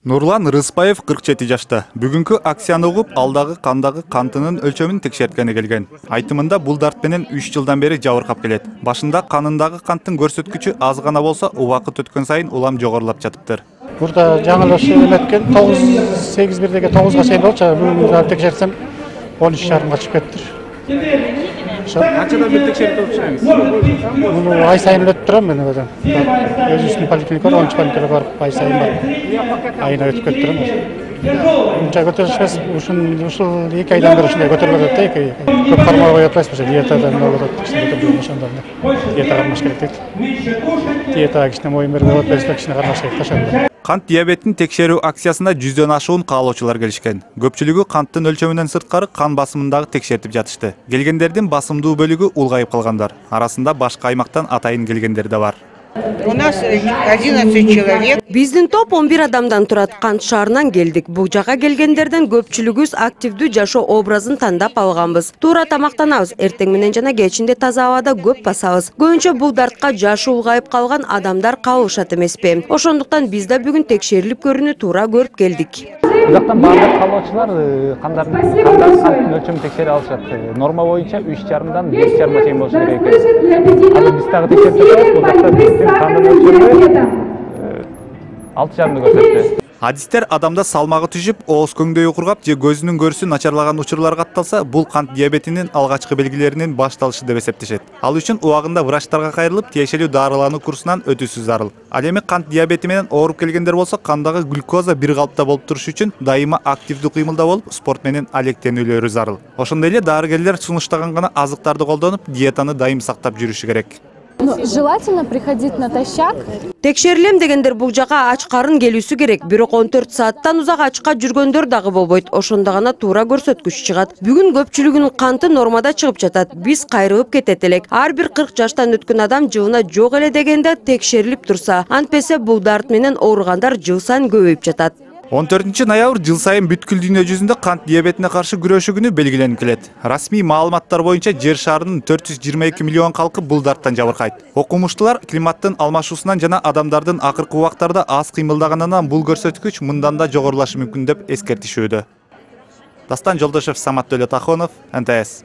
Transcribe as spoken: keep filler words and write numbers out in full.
Нурлан Рыспаев кырк жети жашта. Бүгүнкү акцияны угуп, алдагы кандагы кантынын өлчөмүн текшерткени келген. Айтымында бул дарт менен үч жылдан бери жабыркап келет. Башында канындагы канттын көрсөткүчү аз гана болсо, убакыт өткөн сайын улам жогорулап жатыптыр. Burada жаңылыш эметкен тогуз сегиз бирдеги тогузга чейин болчу. Бүгүн текшерсем он үч жарымга чыгып кеттир. Канчадан бери текшерип турушуңуз? Муну ай сайын өтүп турам мен өзүм. Өзүбүздүн поликлиникага он үч поликлиникага барып ай сайын барып айына өтүп кетип турам. Мынча көтөрүшпөс, ушун ушул эки айдан бери ушундай көтөрүлүп атат да, эки. Көп кармап кое атпайсыз, диетадан болуп атат, кичине көтөрүлүп ошондон. Диета кармаш керек дейт. Диетага кичине моюн берип атпайсыз, кичине кармаш керек ошондо. Кант диабетин текшерүү акциясында жүздөн ашуун каалоочулар келишкен. Көпчүлүгү канттын өлчөмүнөн сырткары кан басымын дагы текшертип жатышты. Келгендердин басымдуу бөлүгү улгайып калгандар. Арасында башка аймактан атайын келгендер да бар. У нас одиннадцать человек. Биздин топ он бир адамдан турат. Кант шаарынан келдик. Бул жака келгендерден көпчүлүгүбүз активдүү жашоо образын тандап алганбыз. Туура тамактанабыз, эртең менен жана кечинде таза абада көп басабыз. Көбүнчө бул дартка жашы улгайып калган адамдар кабылышат эмеспи. Ошондуктан биз да бүгүн текшерилип көрүүнү туура көрүп келдик. Бул жактан баардык каалоочулар кандардын канттын өлчөмүн текшере алышат. Норма боюнча үч жарымдан беш жарымга чейин болушу керек экен. Азыр биз дагы текшерип жатабыз. Бул жакта биздин кандын өлчөмү алты жарымды көрсөттү. Адистер адамда салмагы түшүп, ооз көңдөйү кургап же көзүнүн көрүүсү начарлаган учурлар катталса, бул кант диабетинин алгачкы белгилеринин башталышы деп эсептешет. Ал үчүн убагында врачтарга кайрылып, тиешелүү дарылануу курсунан өтүүсү зарыл. Ал эми кант диабети менен ооруп келгендер болсо, кандагы глюкоза бир калыпта болуп турушу үчүн дайыма активдүү кыймылда болуп, спорт менен алектенүүлөрү зарыл. Ошондой эле дарыгерлер сунуштаган гана азыктарды колдонуп, диетаны дайым сактап жүрүшү керек. Желательно приходить натощак. Текшерилем дегендер бул жака ач карын келүүсү керек. Бирок он төрт сааттан узак ачка жүргөндөр дагы болбойт. Ошондо гана туура көрсөткүч чыгат. Бүгүн көпчүлүгүнүн канты нормада чыгып жатат. Биз кайрылып кетет элек. Ар бир кырк жаштан өткөн адам жылына жок эле дегенде текшерилип турса, антпесе бул дарт менен ооругандар жыл сайын көбөйүп жатат. он төртүнчү ноябрь жыл сайын бүткүл дүйнө жүзүндө кант диабетине каршы күрөшүү күнү белгиленип келет. Расмий маалыматтар боюнча жер шарынын төрт жүз жыйырма эки миллион калкы бул дарттан жабыркайт. Окумуштуулар климаттын алмашуусунан жана адамдардын акыркы убактарда аз кыймылдаганынан бул көрсөткүч мындан да жогорулашы мүмкүн деп эскертишүүдө. Дастан Жолдошев, Самат Төлөтахонов, эн тэ эс.